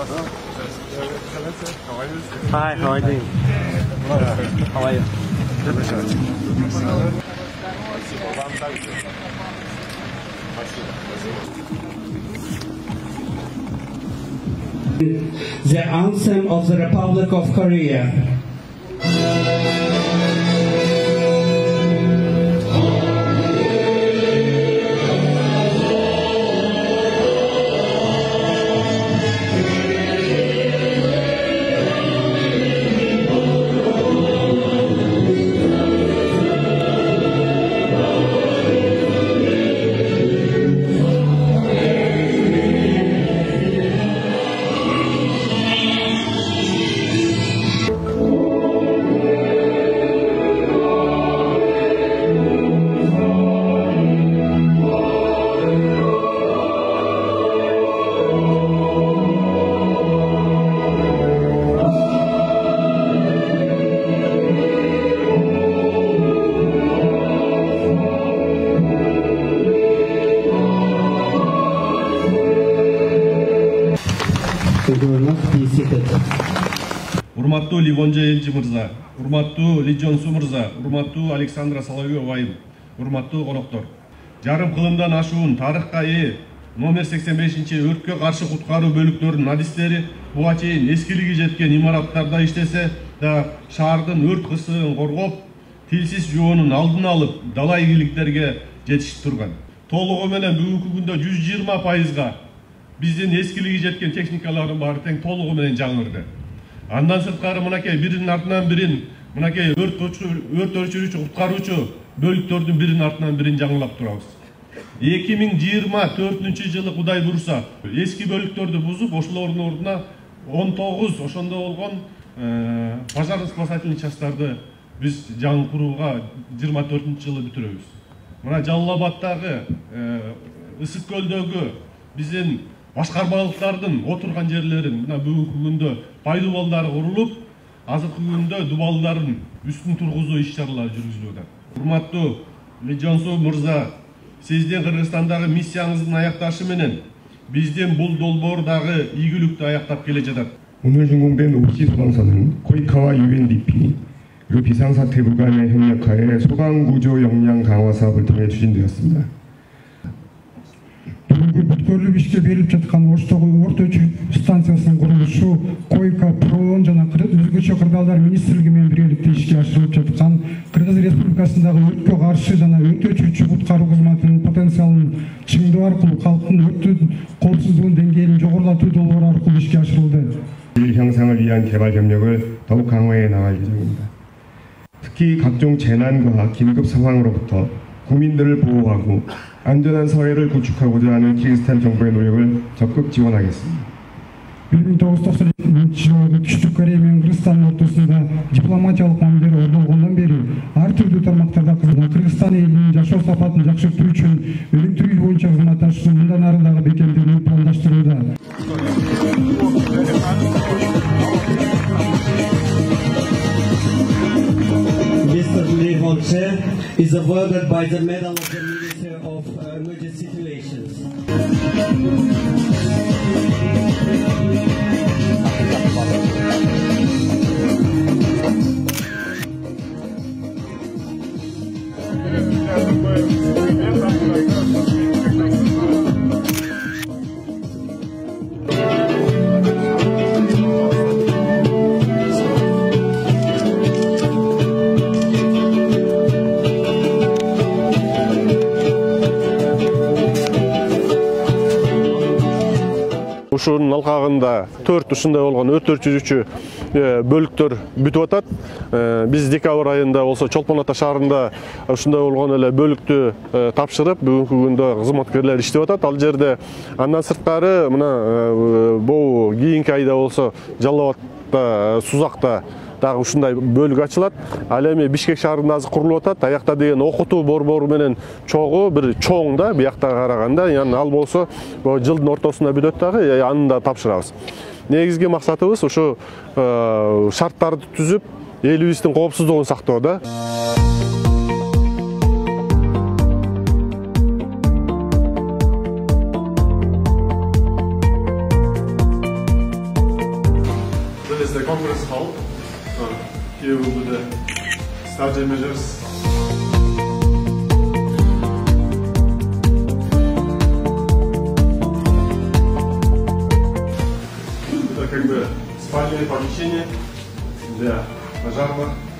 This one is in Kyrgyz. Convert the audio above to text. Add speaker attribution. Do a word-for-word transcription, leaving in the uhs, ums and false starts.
Speaker 1: Hi, how are you doing? How are you? The anthem of the Republic of Korea.
Speaker 2: Урматтуу Ливонжо Элжи мырза, урматтуу Ли Жонсу мырза, урматтуу Александра Соловьева айым, урматтуу коноктор. Жарым кылымдан ашуун тарыхка ээ номер сексен бешинчи өрткө каршы куткаруу бөлүктөрүнүн адистери буга чейин эскилиги жеткен имараттарда иштесе да шаардын өрт кырсыгын коргоп, тилсиз жоонун алдын алып, дала ийгиликтерге жетишип турган. Толугу менен бүгүнкү күндө жүз жыйырма пайызга биздин эскилиги жеткен техникалардын баары тең толугу менен жаңырды. Андан сырткары мынакей биринин артынан бирин, мынакей өрт өрт өчүрүүчү куткаруучу бөлүктөрдүн биринин артынан бирин жаңылап турабыз. эки миң жыйырма төртүнчү жылы Кудай бурса, эски бөлүктөрдү бузуп, ошолордун ордуна он тогуз ошондо болгон пожарно-спасательный частарды биз жаңы курууга жыйырма төртүнчү жылы бүтүрөбүз. Мына Жалал Абаддагы, Ысык көлдөгү биздин башкармалыктардын отурган жерлерин мына бүгүнкү күндө пайдуу балдары курулуп, азыркы күндө дубалдардын үстүн тургузуу иш-чаралары жүргүзүлүп атат. Урматтуу Ли Жонсу мырза, сиздин Кыргызстандагы миссияңыздын аякташы менен биздин бул долбоор дагы ийгиликтүү аяктап келе жатат.
Speaker 3: 오늘 준공된 옵시 소방서는 코이카와 유엔디피 그리고 비상사태부 간의 협력하에 소방구조 역량 강화 사업을 통해 추진되었습니다.
Speaker 4: Бүгүнкү бүткөрлүк ишке берилип жаткан Оштогу өрт өчүрүү станциясынын курулушу Койка Проон жана өзгөчө кырдаалдар министрлиги менен биргеликте ишке ашырылып жаткан Кыргыз Республикасындагы өрткө каршы жана өрт өчүрүүчү куткаруу кызматынын потенциалын чыңдоо аркылуу калктын өрттүн коопсуздугунун деңгээлин жогорулатуу долбоору аркылуу ишке ашырылды.
Speaker 3: 일 향상을 위한 개발 협력을 더욱 강화해 나갈 예정입니다. 특히 각종 재난과 긴급 상황으로부터 국민들을 보호하고 안전한 사회를 구축하고자 하는 키르기스탄 정부의 노력을 적극 지원하겠습니다.
Speaker 4: bir ming тогуз жүз токсон экинчи жылы Түштүк Корея менен Кыргызстандын ортосунда дипломатиялык мамиле орногондон бери ар түрдүү тармактарда Кыргызстан элинин жашоо сапатын жакшыртуу үчүн өнүктүрүү боюнча кызматташуу мындан ары дагы бекемденүү пландаштырылууда.
Speaker 1: Mister Ливонжо is awarded by the Medal of the Minister of Emergency Situations.
Speaker 2: Ушунун алкагында төрт ушундай болгон өрт өчүрүүчү бөлүктөр бүтүп атат. Биз декабрь айында болсо Чолпон Ата шаарында ушундай болгон эле бөлүктү тапшырып, бүгүнкү күндө кызматкерлер иштеп атат. Ал жерде андан сырткары мына бул кийинки айда болсо Жалал Абадта, Сузакта дагы ушундай бөлүк ачылат. Ал эми Бишкек шаарында азыр курулуп атат. Аякта деген окутуу борбору менен чогуу бир чоң да, бияктага караганда, яны ал болсо жылдын ортосунда бүтөт дагы, аны да тапшырабыз. Негизги максатыбыз ушу шарттарды түзүп, элибиздин коопсуздугун сактоо да.
Speaker 5: is the conference hall. So here will be the strategy measures. Это как бы спальное помещение для пожарных.